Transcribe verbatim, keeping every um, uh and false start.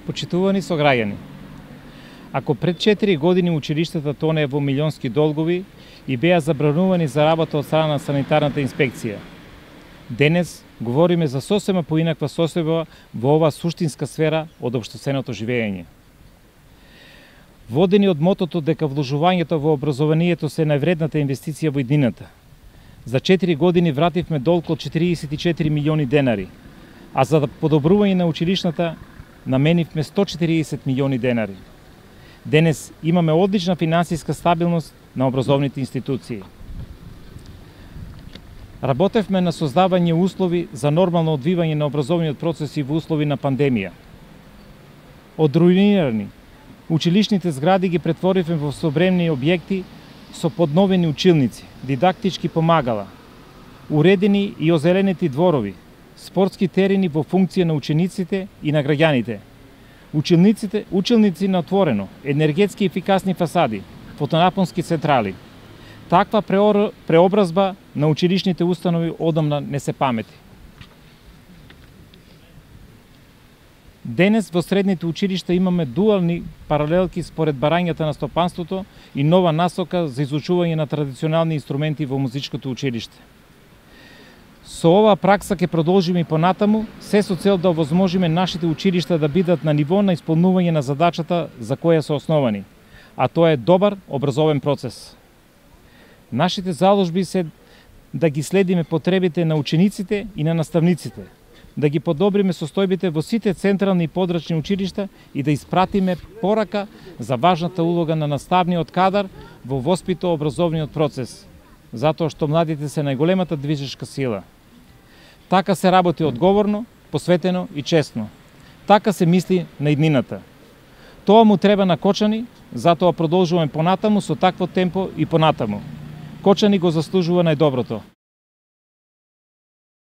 Почитувани сограѓани, ако пред четири години училиштата тонеа во милионски долгови и беа забранувани за работа од страна на санитарната инспекција, денес говориме за сосема поинаква состојба во оваа суштинска сфера од општественото живење. Водени од мотото дека вложувањето во образованието се највредната инвестиција во иднината, за четири години вративме долг од четириесет и четири милиони денари, а за подобрување на училишната наменивме сто четириесет милиони денари. Денес имаме одлична финансиска стабилност на образовните институции. Работевме на создавање услови за нормално одвивање на образовниот процес и во услови на пандемија. Од руинирани училишните згради ги претворивме во современи објекти со подновени училници, дидактички помагала, уредени и озеленети дворови, спортски терени во функција на учениците и на граѓаните, училниците, училници на отворено, енергетски ефикасни фасади, фотонапонски централи. Таква преобразба на училишните установи одамна не се памети. Денес во средните училишта имаме дуални паралелки според барањата на стопанството и нова насока за изучување на традиционални инструменти во музичкото училиште. Со оваа пракса ќе продолжиме и понатаму, се со цел да овозможиме нашите училишта да бидат на ниво на исполнување на задачата за која се основани, а тоа е добар образовен процес. Нашите заложби се да ги следиме потребите на учениците и на наставниците, да ги подобриме состојбите во сите централни и подрачни училишта и да испратиме порака за важната улога на наставниот кадар во воспито-образовниот процес, затоа што младите се најголемата движешка сила. Така се работи одговорно, посветено и честно. Така се мисли на иднината. Тоа му треба на Кочани, затоа продолжуваме понатаму со такво темпо и понатаму. Кочани го заслужува најдоброто.